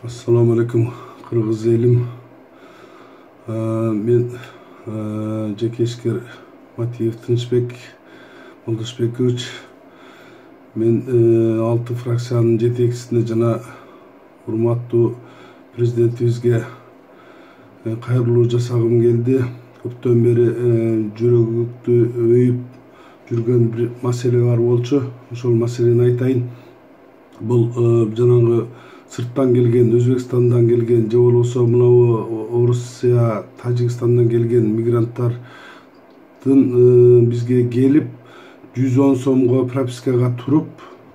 Assalamu alaikum Kırgız elim. Men Жекешкер Матиев Тынчбек Молдошбекович. Men 6 фракциянын жетекчисине жана урматтуу президентибизге кайрылуу жасагым келди. Көптөн бери жүрөгүмдү өйүп жүргөн бир маселе бар болчу. Ошол маселени айтайын. Бул жанагы сырттан келген, Өзбекстандан келген, же болбосо мына Орусия, Тажикстандан келген мигранттардын бизге келип 110 сомго пропискага туруп,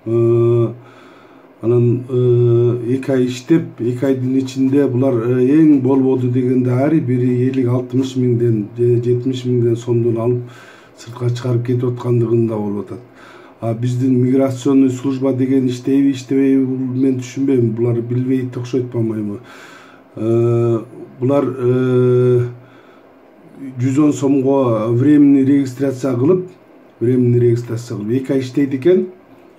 анан 2 ай иштеп, 2 айдын ичинде булар эң болбоду дегенде ар бири 50-60 миңден же 70 миңден сомдон алып сыртка чыгарып кетип аткандыгында болуп атат. Биздин миграционный служба деген иштейби, иштебейби мен түшүнбөйм. Булар билбейт окшойт болмойбу? Булар 110 сомго временный регистрация кылып, 2 ай иштейт экен.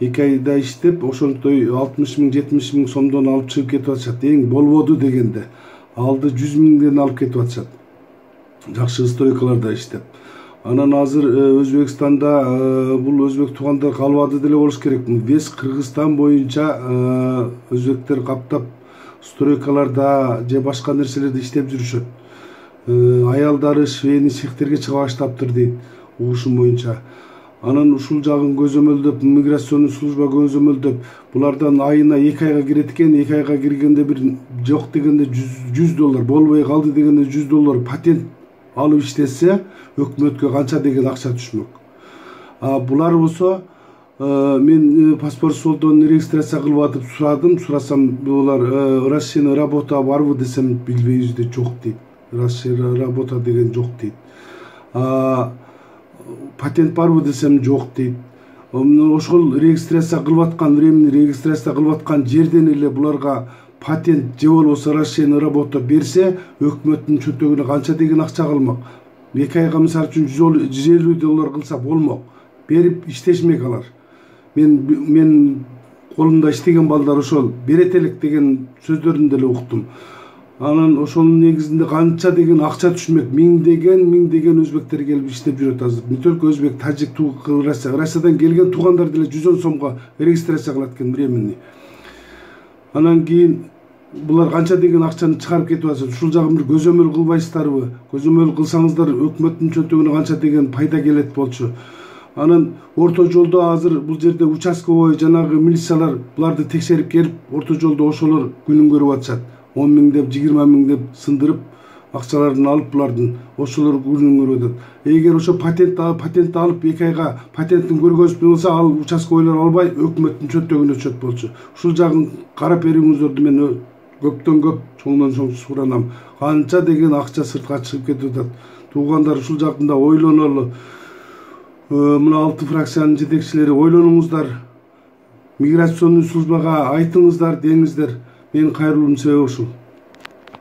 2 айда иштеп, ошонтой 60 миң, 70 миң сомдон алып чыгып кетип атышат. Эң болбоду дегенде алды 100 миңден алып кетип атышат. Жакшы стройкаларда иштеп. Анан азыр Өзбекстанда бул өзбек туугандар калбады деле болуш керек. Вес Кыргызстан боюнча өзбектер каптап стройкаларда же башка нерселерде иштеп жүрүшөт. Аялдары швейный цехтерге чыга баштаптыр дейт, угушум боюнча. Анан ушул жагын көзөмөлдөп, миграционный служба көзөмөлдөп, булардан айына 2 айга кирет экен. 2 айга киргенде бир жок дегенде $100, болбой калды дегенде $100 патент алып иштесе, өкмөткө канча деген акча түшмөк. Булар болсо мен паспорт столдон регистрация кылып атып сурасам, булар расчетный работа барбы десем, билбейбиз дейт, жок дейт. Расчетный работа деген жок дейт. Патент барбы десем, жок дейт. Ошол регистрация кылып аткан, временный регистрация кылып аткан жерден эле буларга патент же болбосо расчетный работа берсе, өкмөттүн чөнтөгүнө канча деген акча калмак. 2 айга мисалы үчүн $150 кылса болмок. Берип иштешмек алар. Мен колумда иштеген балдар ошол берет элек деген сөздөрүн деле уктум. Анан ошонун негизинде канча деген акча түшмөк. Миңдеген өзбектер келип иштеп жүрөт азыр. Не только өзбек, тажик, Россиядан келген туугандар деле 110 сомго регистрация кылат экен временный. Анан кийин булар канча деген акчаны чыгарып кетип атат. Ушул жагын бир көзөмөл кылбайсыздарбы? Көзөмөл кылсаңыздар өкмөттүн чөнтөгүнө канча деген пайда келет болчу. Анан орто жолдо азыр бул жерде участковый жанагы милициялар буларды текшерип келип, орто жолдо ошолор күнүн көрүп атышат. 10 миң деп, 20 миң деп сындырып, акчаларын алып булардын ошолор күнүн көрүп атат. Эгер ошо патент алып 2 айга патентин көргөзүп болсо, ал участковыйлар албай өкмөттүн чөнтөгүнө түшөт болчу. Ушул жагын карап берүүңүздөрдү мен көптөн көп чоңдон чоң суранам. Канча деген акча сыртка чыгып кетип атат. Туугандар ушул жакында ойлонолу. Мына 6 фракциянын жетекчилери ойлонуңуздар. Миграционный службага айтыңыздар, деңиздер. Менин кайрылуум себеби ушул.